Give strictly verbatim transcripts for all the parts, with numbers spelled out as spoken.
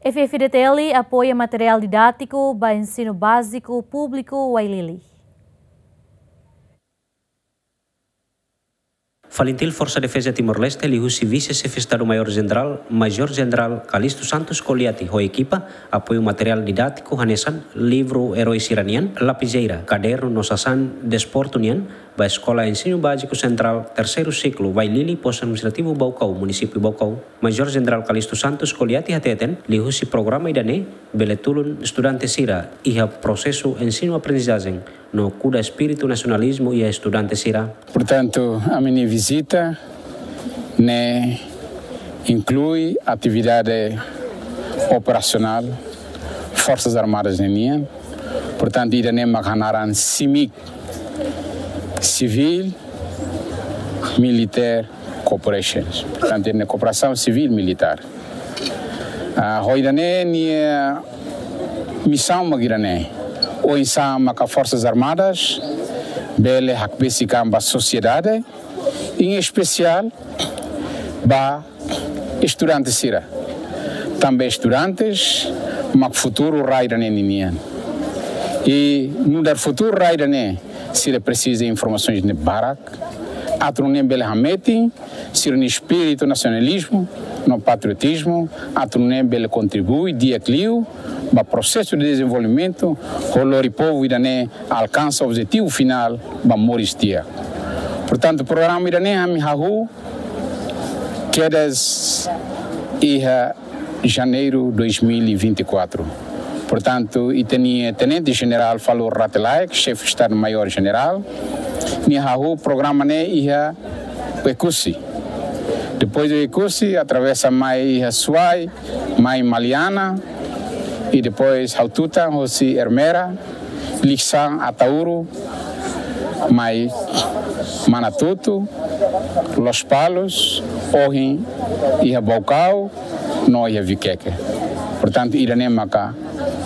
F F D T L apoia materiál didátiku ba ensinu báziku públiku Wailili. FALINTIL Forsa Defeza Timor-Leste liuhusi Vise Xefe Estadu Maiór Jenerál, Majór Jenerál Calixto Santos Coliati ho ekipa, apoiu materiál didátiku hanesan livru eroi sira-nian, lapizeira, kadernu no sasán desportu nian, ba Eskola Ensinu Báziku Sentrál Terseiru Siklu Wailili, Postu Administrativu Baucau, Munisípiu Baucau. Majór Jenerál Calixto Santos Coliati hateten, liuhusi programa ida-ne'e, bele tulun estudante sira iha prosesu ensinu-aprendizajen no kuda espíritu nasionalizmu iha estudante sira. Portantu, ami-nia vizita ne'e inklui atividade operasionál Forsas Armadas ninian. Portantu, ida-ne'e mak hanaran CIMIC, Civil Military Cooperations. Portantu, ida-ne'e kooperasaun sivil militár. Ah, ho ida-ne'e nia misaun mak ida-ne'e. Oinsá maka Forsas Armadas bele hakbesik an ba sosiedade, em especial ba estudante sira. Tanba estudante mak futuru rai ida-ne'e ninian. I nu'udar futuru rai ida-ne'e, sira presiza informasaun ne'e barak, atu nune'e bele hametin sira-nia espíritu nasionalizmu no patriotizmu, atu nune'e bele kontribui di'ak liu ba prosesu de dezenvolvimentu, ho lori povu ida-ne'e alkansa objetivu finál ba moris di'ak. Portantu, programa ida-ne'e ami hahú kedas iha Janeiru dois mil e vinte e quatro. Portantu, ita-nia Tenente Jenerál Falur Rate-Laek, Xefe Estadu Maiór Jenerál, nia hahú programa ne'e iha Oekusi. Depois de Oekusi, atravesa mai iha Suai, mai Maliana, i depois hatutan hosi Ermera, Likisá, Ataúro, mai Manatuto, Lospalos, ohin iha Baucau, no iha Viqueque. Portantu, ida-ne'e maka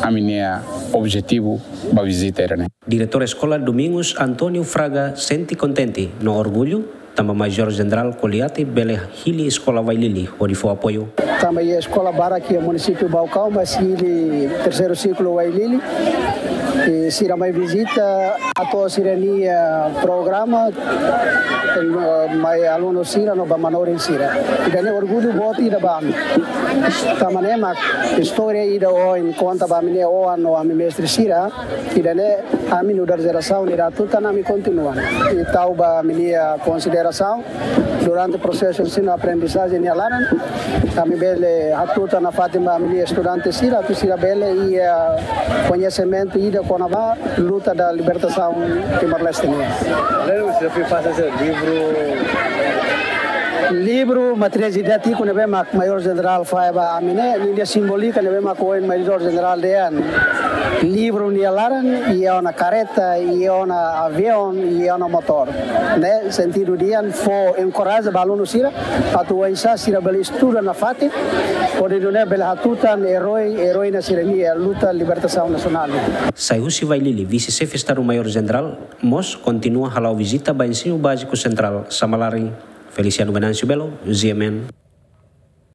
ami-nia objetivu ba vizita ida-ne'e. Diretór Eskola Domingos António Fraga sente kontente no orgullu, tanba Majór Jenerál Coliati bele hili Eskola Wailili hodi fó apoiu. Tanba iha eskola barak iha Munisípiu Baucau, mas hili Terseiru Siklu Wailili. I sira mai vizita, atu sira-nia programa, eh, mai alunu sira no ba manorin sira. Ida-ne'e orgullu boot ida ba ami. Tanba ne'e mak istória ida ohin konta ba ami-nia oan no ami mestre sira. Ida-ne'e ami nu'udar jerasaun ida hatutan ami kontinua. I tau ba ami-nia konsiderasaun durante prosesu ensinu-aprendizajen nia laran, ami bele hatutan nafatin ba ami-nia estudante sira, atu sira bele iha koñesimentu ida kona-ba luta da libertasaun Timor-Leste nian. Lembra, se eu fui fazer esse livro. Livru materiál didátiku ne'ebé mak Majór Jenerál fahe ba ami ne'e, ninia simbólika ne'ebé mak ohin Majór Jenerál dehan. Livru nia laran, iha ona kareta, iha ona aviaun, iha ona motór. Ne'e sentidu dehan fó enkoraja ba alunu sira, atu oinsá sira bele estuda nafatin, hodi nune'e bele hatutan eroi, eroína sira-nia luta libertasaun nasionál. Sai husi Wailili, Vise Xefe Estadu Maiór Jenerál mós kontinua hala'o vizita ba Ensinu Báziku Sentrál Samalari. Feliciano Venâncio Belo, G M N.